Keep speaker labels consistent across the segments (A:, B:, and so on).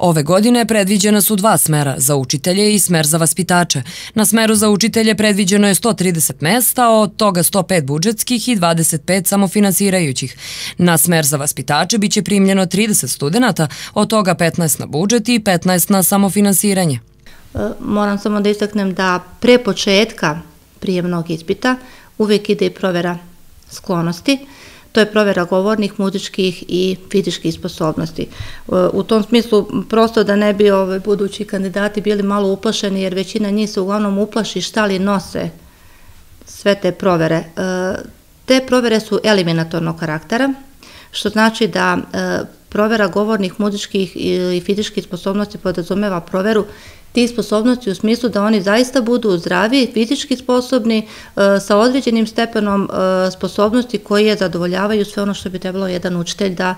A: Ove godine predviđena su 2 smera, za učitelje i smer za vaspitače. Na smeru za učitelje predviđeno je 130 mesta, od toga 105 budžetskih i 25 samofinansirajućih. Na smer za vaspitače biće primljeno 30 studenata, od toga 15 na budžet i 15 na samofinansiranje.
B: Moram samo da istaknem da pre početka prijemnog ispita uvijek ide i provera sklonosti. To je provera govornih, muzičkih i fizičkih sposobnosti. U tom smislu, prosto da ne bi budući kandidati bili malo uplašeni, jer većina njih se uglavnom uplaši šta li nose sve te provere. Te provere su eliminatornog karaktera, što znači da provera govornih, muzičkih i fizičkih sposobnosti podrazumeva proveru tih sposobnosti u smislu da oni zaista budu zdravi, fizički sposobni, sa određenim stepenom sposobnosti koje zadovoljavaju sve ono što bi trebalo jedan učitelj da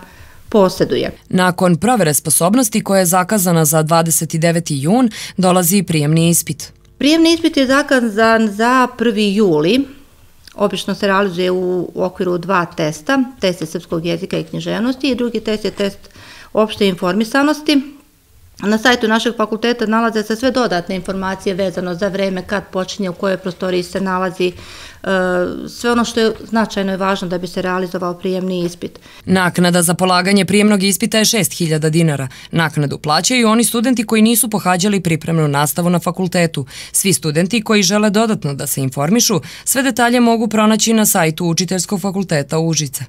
B: posjeduje.
A: Nakon provere sposobnosti koja je zakazana za 29. jun, dolazi prijemni ispit.
B: Prijemni ispit je zakazan za 1. juli. Obično se realizuje u okviru 2 testa. Test je srpskog jezika i književnosti i drugi test je test opšte informisanosti. Na sajtu našeg fakulteta nalaze se sve dodatne informacije vezano za vreme, kad počinje, u kojoj prostoriji se nalazi, sve ono što je značajno i važno da bi se realizovao prijemni ispit.
A: Naknada za polaganje prijemnog ispita je 6.000 dinara. Naknadu plaćaju oni studenti koji nisu pohađali pripremnu nastavu na fakultetu. Svi studenti koji žele dodatno da se informišu, sve detalje mogu pronaći na sajtu Učiteljskog fakulteta Užice.